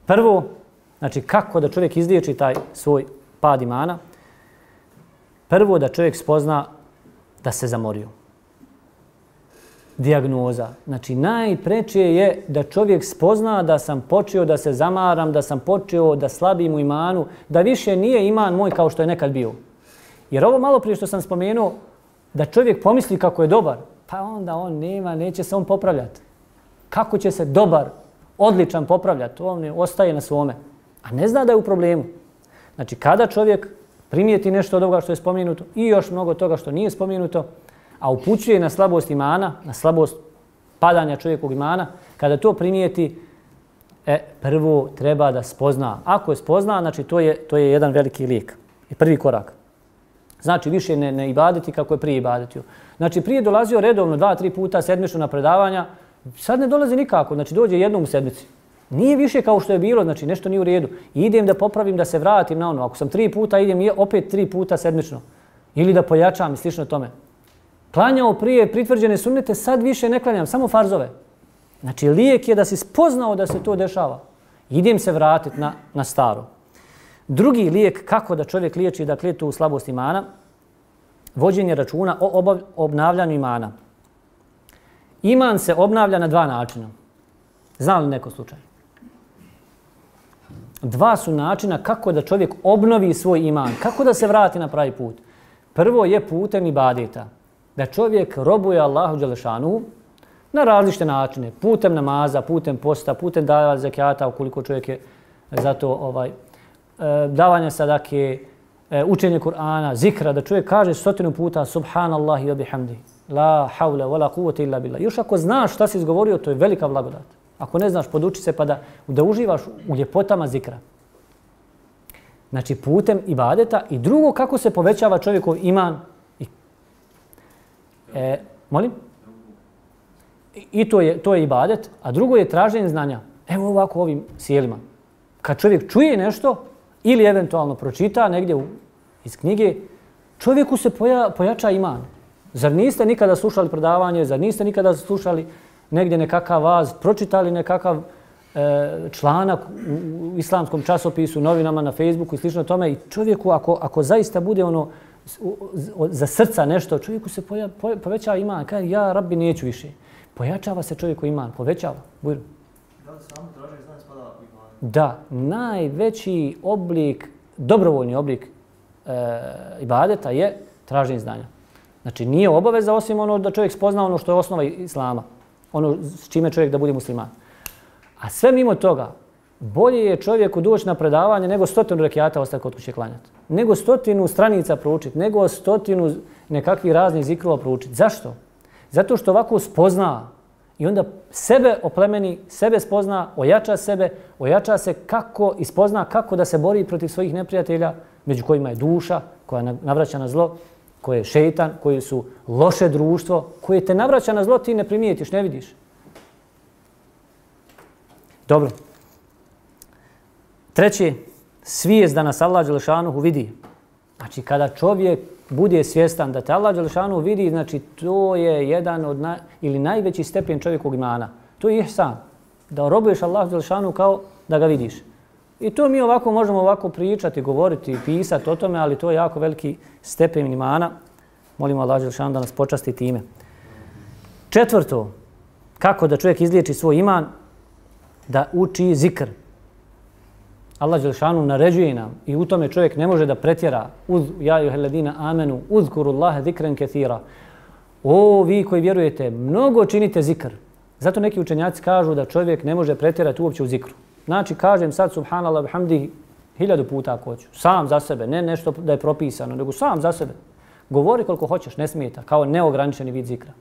Prvo, znači kako da čovjek izliječi taj svoj pad imana? Prvo da čovjek spozna da se zamorio. Dijagnoza. Znači najpreče je da čovjek spozna da sam počeo da se zamaram, da sam počeo da slabim u imanu, da više nije iman moj kao što je nekad bio. Jer ovo malo prije što sam spomenuo, da čovjek pomisli kako je dobar, pa onda on nema, neće se on popravljati. Kako će se dobar, odličan popravljati? On ostaje na svome, a ne zna da je u problemu. Znači kada čovjek primijeti nešto od ovoga što je spomenuto i još mnogo toga što nije spomenuto, a upućuje na slabost imana, na slabost padanja čovjekovog imana, kada to primijeti, prvo treba da spozna. Ako je spozna, znači to je jedan veliki lijek i prvi korak. Znači više ne ibadeti kako je prije ibadetio. Znači prije dolazio redovno 2-3 puta sedmično na predavanja, sad ne dolazi nikako, znači dođe jednom u sedmici. Nije više kao što je bilo, znači nešto nije u redu. Idem da popravim, da se vratim na ono. Ako sam 3 puta, idem opet 3 puta sedmično. Ili da pojačam i slično tome. Klanjao prije pritvrđene sunnete, sad više ne klanjam, samo farzove. Znači lijek je da si spoznao da se to dešava. Idem se vratiti na staro. Drugi lijek kako da čovjek liječi dakle tu slabost imana, vođenje računa o obnavljanju imana. Iman se obnavlja na 2 načina. Zna li neko slučaj? 2 su načina kako da čovjek obnovi svoj iman, kako da se vrati na pravi put. Prvo je putem ibadeta. Da čovjek robuje Allahu dželešanu na različite načine. Putem namaza, putem posta, putem davanja zekijata, ukoliko čovjek je za to davanja sadake, učenje Kur'ana, zikra, da čovjek kaže 100 puta subhanallahi wa bihamdi, la hawla wa la quwwata illa billah. Još ako znaš šta si izgovorio, to je velika blagodat. Ako ne znaš, poduči se pa da uživaš u ljepotama zikra. Znači putem ibadeta. I drugo, kako se povećava čovjekov iman. Molim? I to je ibadet. A drugo je traženje znanja. Evo ovako ovim sjelima. Kad čovjek čuje nešto ili eventualno pročita negdje iz knjige, čovjeku se pojača iman. Zar niste nikada slušali predavanje, zar niste nikada slušali negdje nekakav vaz, pročitali nekakav članak u islamskom časopisu, novinama, na Facebooku i slično tome, i čovjeku ako zaista bude ono za srca nešto, čovjeku se povećava iman. Kaže, ja rabbi neću više. Pojačava se čovjeku iman, povećava. Bujru. Da li samo traženje znanja spada u iman? Da, najveći oblik, dobrovoljni oblik ibadeta je traženje znanja. Znači nije obaveza osim ono da čovjek spozna ono što je osnova islama. Ono s čime čovjek da bude musliman. A sve mimo toga, bolje je čovjeku doći na predavanje nego 100 rekijata ostati kod kuće klanjati. Nego 100 stranica proučiti, nego 100 nekakvih raznih zikrova proučiti. Zašto? Zato što ovako spozna i onda sebe oplemeni, sebe spozna, ojača se kako i spozna kako da se bori protiv svojih neprijatelja, među kojima je duša, koja navraća na zlo, koje je šejtan, koji su loše društvo, koje te navraća na zlo, ti ne primijetiš, ne vidiš. Dobro. Treće, svijest da nas Allah dželešanuhu vidi. Znači, kada čovjek bude svjestan da te Allah dželešanuhu vidi, znači to je jedan od ili najveći stepen čovjekovog imana. To je ihsan. Da robuješ Allah dželešanuhu kao da ga vidiš. I to mi ovako možemo ovako pričati, govoriti, pisati o tome, ali to je jako veliki stepen imana. Molimo Allah dželešanuhu da nas počasti time. Četvrto, kako da čovjek izliječi svoj iman? Da uči zikr. Allah dželešanuhu naređuje nam i u tome čovjek ne može da pretjera. Ja ejuhalladina amenu uzkurullaha zikran kathira. O vi koji vjerujete, mnogo činite zikr. Zato neki učenjaci kažu da čovjek ne može pretjerati uopće u zikru. Znači kažem sad subhanallah bihamdihi 1000 puta ako hoću. Sam za sebe, ne nešto da je propisano, nego sam za sebe. Govori koliko hoćeš, ne smijeta, kao neograničeni vid zikra.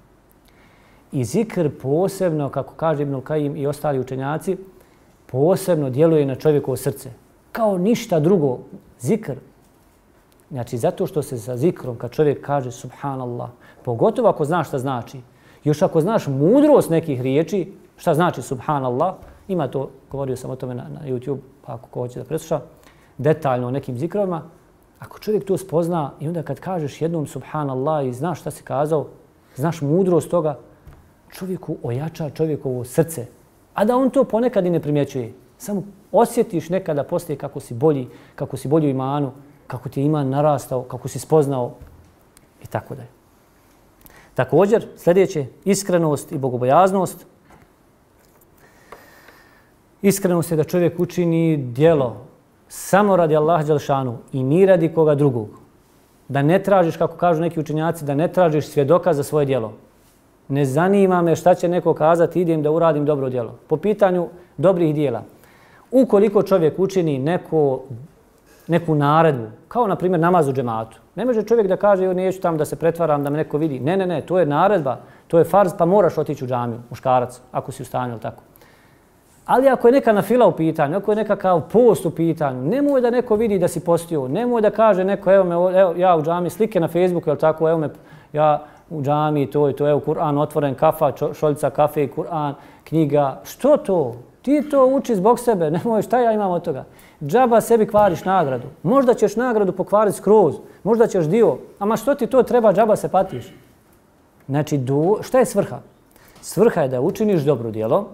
I zikr posebno, kako kaže Ibnul Kajim i ostali učenjaci, posebno djeluje na čovjekovo srce. Kao ništa drugo. Zikr. Znači, zato što se sa zikrom, kad čovjek kaže subhanallah, pogotovo ako znaš šta znači, još ako znaš mudrost nekih riječi, šta znači subhanallah, ima to, govorio sam o tome na YouTube, pa ako ko hoće da presluša, detaljno o nekim zikrovima, ako čovjek to spozna i onda kad kažeš jednom subhanallah i znaš šta si kazao, znaš mudrost toga, čovjeku ojača čovjekovo srce. A da on to ponekad i ne primjećuje. Samo osjetiš nekada poslije kako si bolji u imanu, kako ti je iman narastao, kako si spoznao i tako dalje. Također, sljedeće, iskrenost i bogobojaznost. Iskrenost je da čovjek učini djelo samo radi Allaha dželešanu i ni radi koga drugog. Da ne tražiš, kako kažu neki učenjaci, da ne tražiš svjedoka za svoje djelo. Ne zanima me šta će neko kazati, idem da uradim dobro djelo. Po pitanju dobrih djela. Ukoliko čovjek učini neku naredbu, kao na primjer namaz u džematu, ne može čovjek da kaže neću tamo da se pretvaram, da me neko vidi. Ne, to je naredba, to je farz, pa moraš otići u džamiju, muškarac, ako si u stanju ili tako. Ali ako je neka nafila u pitanju, ako je nekakav post u pitanju, nemoj da neko vidi da si postio, nemoj da kaže neko, evo ja u džamiji, slike na Facebooku, ili tako, evo me, ja u džamiji, to, evo Kur'an otvoren, kafa, šoljica kafe, Kur'an, knjiga. Što to? Ti to uči zbog sebe, nemoj, šta ja imam od toga? Džaba sebi kvariš nagradu. Možda ćeš nagradu pokvariti skroz, možda ćeš dio, ama što ti to treba, džaba se patiš. Znači, šta je svrha? Svrha je da učiniš dobro djelo,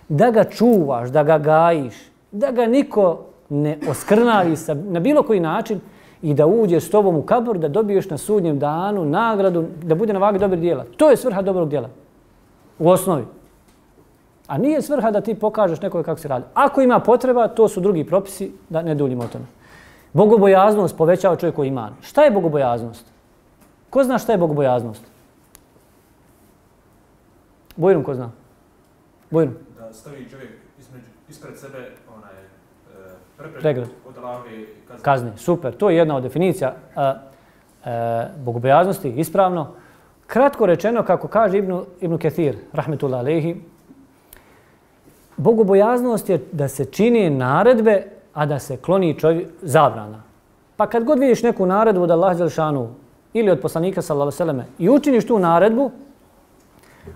da ga čuvaš, da ga gajiš, da ga niko ne oskrnavi na bilo koji način i da uđeš s tobom u kabur, da dobiješ na sudnjem danu nagradu, da bude na vagi dobrih djela. To je svrha dobrog djela. U osnovi. A nije svrha da ti pokažeš nekoj kako se radi. Ako ima potreba, to su drugi propisi, da ne duljimo o tome. Bogobojaznost povećava čovjeku iman. Šta je bogobojaznost? Ko zna šta je bogobojaznost? Bojrum, ko zna? Bojrum. Da stavi čovjek ispred sebe pregradu od Allahove kazne. Super, to je jedna od definicija bogobojaznosti, ispravno. Kratko rečeno, kako kaže Ibn Kathir, rahmetullah alejhi, bogobojaznost je da se čini naredbe, a da se kloni zabrana. Pa kad god vidiš neku naredbu od Allaha dželešanu ili od poslanika sallallahu alejhi ve selleme i učiniš tu naredbu,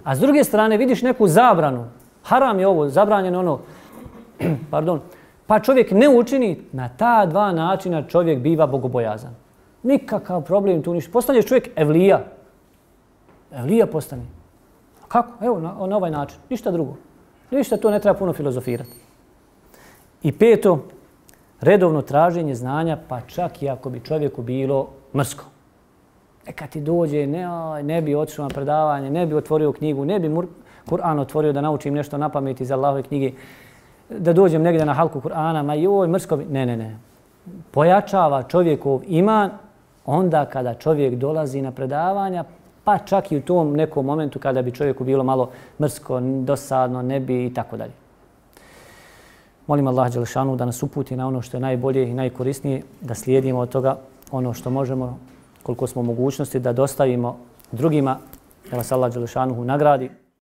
a s druge strane vidiš neku zabranu, haram je ovo, zabranjeno ono, pardon, pa čovjek ne učini, na ta dva načina čovjek biva bogobojazan. Nikakav problem tu ništa. Postane čovjek evlija. Evlija postane. Kako? Evo, na ovaj način. Ništa drugo. Ništa to ne treba puno filozofirati. I peto, redovno traženje znanja, pa čak i ako bi čovjeku bilo mrsko. Neka ti dođe, ne bi otišao na predavanje, ne bi otvorio knjigu, ne bi Kur'an otvorio da naučim nešto na pamet iz Allahove knjige, da dođem negdje na halku Kur'ana, ma joj, mrsko bi... Ne. Pojačava čovjekov iman onda kada čovjek dolazi na predavanja, pa čak i u tom nekom momentu kada bi čovjeku bilo malo mrsko, dosadno, ne bi i tako dalje. Molim Allah dželešanu da nas uputi na ono što je najbolje i najkorisnije, da slijedimo od toga ono što možemo, koliko smo mogućnosti, da dostavimo drugima, da vas Allah dželešanu nagradi.